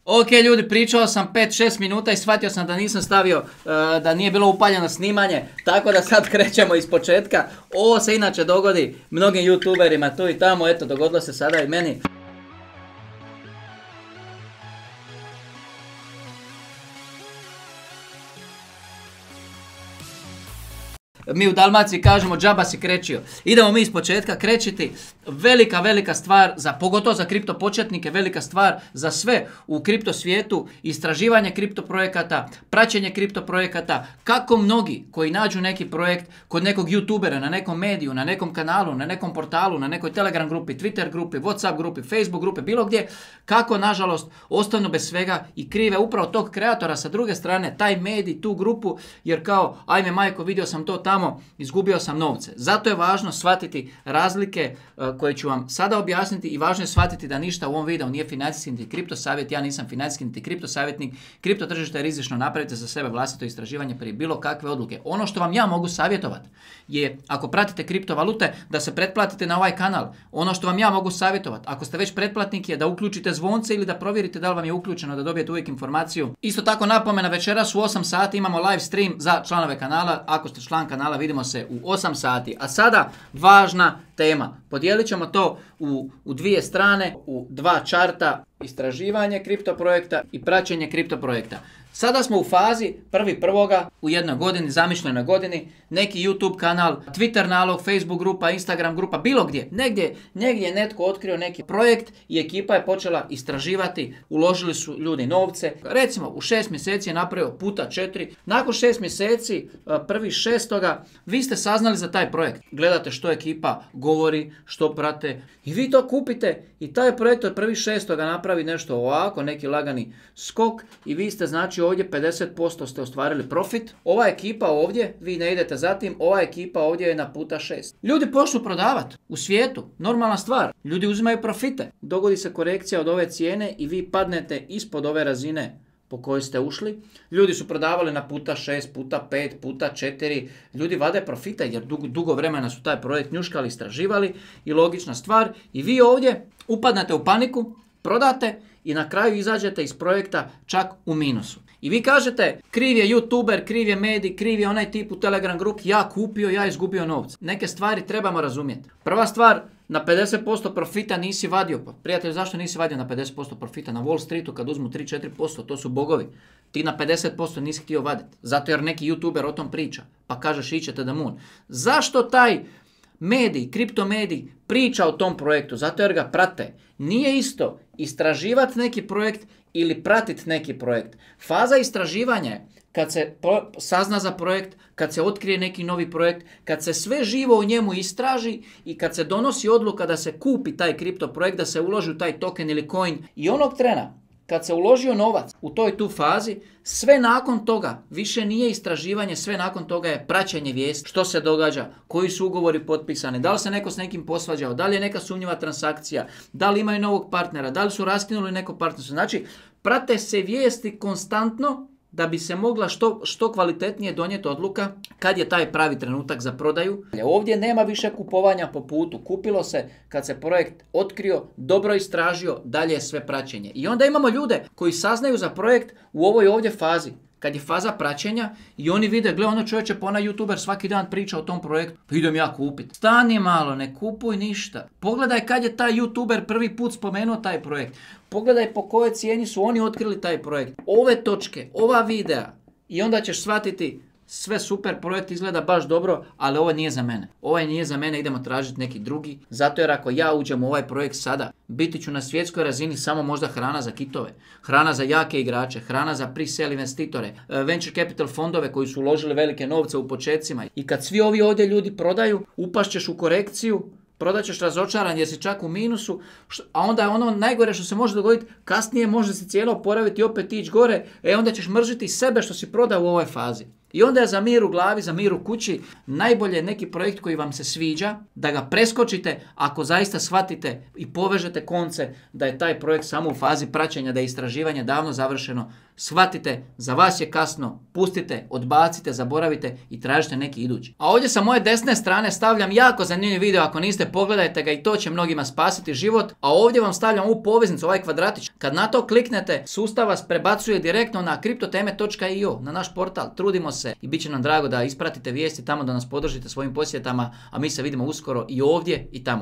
Ok ljudi, pričao sam 5-6 minuta i shvatio sam da nisam stavio, da nije bilo upaljeno snimanje, tako da sad krećemo iz početka. Ovo se inače dogodi mnogim youtuberima tu i tamo, eto dogodilo se sada i meni. Mi u Dalmaciji kažemo džaba si krećio. Idemo mi iz početka krećiti. Velika stvar, pogotovo za kripto početnike, velika stvar za sve u kripto svijetu, istraživanje kripto projekata, praćenje kripto projekata, kako mnogi koji nađu neki projekt kod nekog youtubera, na nekom mediju, na nekom kanalu, na nekom portalu, na nekoj Telegram grupi, Twitter grupi, Whatsapp grupi, Facebook grupi, bilo gdje, kako nažalost ostanu bez svega i krive upravo tog kreatora sa druge strane, taj medij, tu grupu, jer kao, ajme majko, vidio sam to tamo, izgubio sam novce. Zato je važno shvatiti razlike koje ću vam sada objasniti i važno je shvatiti da ništa u ovom videu nije financijski niti kripto savjet, ja nisam financijski niti kripto savjetnik, kripto tržište je rizično, napravite za sebe vlastito istraživanje prije bilo kakve odluke. Ono što vam ja mogu savjetovati je, ako pratite kriptovalute, da se pretplatite na ovaj kanal. Ono što vam ja mogu savjetovati, ako ste već pretplatnik, je da uključite zvonce ili da provjerite da li vam je uključeno, da dobijete uvijek informaciju. Isto tako napomena, večeras u 8 sati imamo live stream za članove kanala. Ako ste član kanala, vidimo se u 8 sati. A sada važna tema. Podijelit ćemo to u dvije strane, u dva čarta, istraživanje kripto projekta i praćenje kripto projekta. Sada smo u fazi 1.1. u jednoj godini, zamišljenoj godini, neki YouTube kanal, Twitter nalog, Facebook grupa, Instagram grupa, bilo gdje. Negdje je netko otkrio neki projekt i ekipa je počela istraživati, uložili su ljudi novce. Recimo u 6 mjeseci je napravio puta 4. Nakon 6 mjeseci, 1.6. vi ste saznali za taj projekt. Gledate što ekipa govori, što prate i vi to kupite i taj projekt od 1.6. napravi nešto ovako, neki lagani skok i vi ste znači ovdje 50% ste ostvarili profit. Ova ekipa ovdje, vi ne idete za tim, ova ekipa ovdje je na puta 6. Ljudi počnu prodavati u svijetu, normalna stvar. Ljudi uzimaju profite. Dogodi se korekcija od ove cijene i vi padnete ispod ove razine po kojoj ste ušli. Ljudi su prodavali na puta 6, puta 5, puta 4. Ljudi vade profite jer dugo vremena su taj projekt njuškali, istraživali i logična stvar. I vi ovdje upadnete u paniku, prodate i na kraju izađete iz projekta čak u minusu. I vi kažete, kriv je youtuber, kriv je medij, kriv je onaj tip u Telegram grupi, ja kupio, ja izgubio novce. Neke stvari trebamo razumjeti. Prva stvar, na 50% profita nisi vadio. Pa prijatelj, zašto nisi vadio na 50% profita? Na Wall Streetu kad uzmu 3-4%, to su bogovi. Ti na 50% nisi htio vaditi. Zato jer neki youtuber o tom priča. Pa kažeš ićete da moon. Zašto taj medij, kriptomedij priča o tom projektu? Zato jer ga prate. Nije isto istraživati neki projekt ili pratiti neki projekt. Faza istraživanja je kad se sazna za projekt, kad se otkrije neki novi projekt, kad se sve živo u njemu istraži i kad se donosi odluka da se kupi taj kripto projekt, da se uloži u taj token ili coin. I onog trena kad se uložio novac u toj tu fazi, sve nakon toga više nije istraživanje, sve nakon toga je praćenje vijesti, što se događa, koji su ugovori potpisani, da li se neko s nekim posvađao, da li je neka sumnjiva transakcija, da li imaju novog partnera, da li su raskinuli neko partnerstvo. Znači, prate se vijesti konstantno da bi se mogla što kvalitetnije donijeti odluka kad je taj pravi trenutak za prodaju. Ovdje nema više kupovanja po putu. Kupilo se kad se projekt otkrio, dobro istražio, dalje je sve praćenje. I onda imamo ljude koji saznaju za projekt u ovoj ovdje fazi. Kad je faza praćenja i oni vide, gle ono čovječe, pa onaj youtuber svaki dan priča o tom projektu, pa idem ja kupiti. Stani malo, ne kupuj ništa. Pogledaj kad je taj youtuber prvi put spomenuo taj projekt. Pogledaj po kojoj cijeni su oni otkrili taj projekt. Ove točke, ova videa i onda ćeš shvatiti sve super, projekt izgleda baš dobro, ali ovo nije za mene. Ovaj nije za mene, idemo tražiti neki drugi. Zato jer ako ja uđem u ovaj projekt sada, biti ću na svjetskoj razini samo možda hrana za kitove, hrana za jake igrače, hrana za pre-sale investitore, venture capital fondove koji su uložili velike novce u početcima. I kad svi ovi ovdje ljudi prodaju, upašćeš u korekciju, prodat ćeš razočaran jer si čak u minusu, a onda je ono najgore što se može dogoditi, kasnije može se cijelo oporaviti i opet ići gore, onda ćeš mržiti sebe što si prodao u ovoj fazi. I onda je za mir u glavi, za mir u kući, najbolje neki projekt koji vam se sviđa, da ga preskočite ako zaista shvatite i povežete konce da je taj projekt samo u fazi praćenja, da je istraživanje davno završeno, shvatite, za vas je kasno, pustite, odbacite, zaboravite i tražite neki idući. A ovdje sa moje desne strane stavljam jako zanimljiv video, ako niste, pogledajte ga i to će mnogima spasiti život. A ovdje vam stavljam ovu poveznicu, ovaj kvadratić. Kad na to kliknete, sustav vas prebacuje direktno na kriptoteme.io, na naš portal. Trudimo se i bit će nam drago da ispratite vijesti tamo, da nas podržite svojim posjetama, a mi se vidimo uskoro i ovdje i tamo.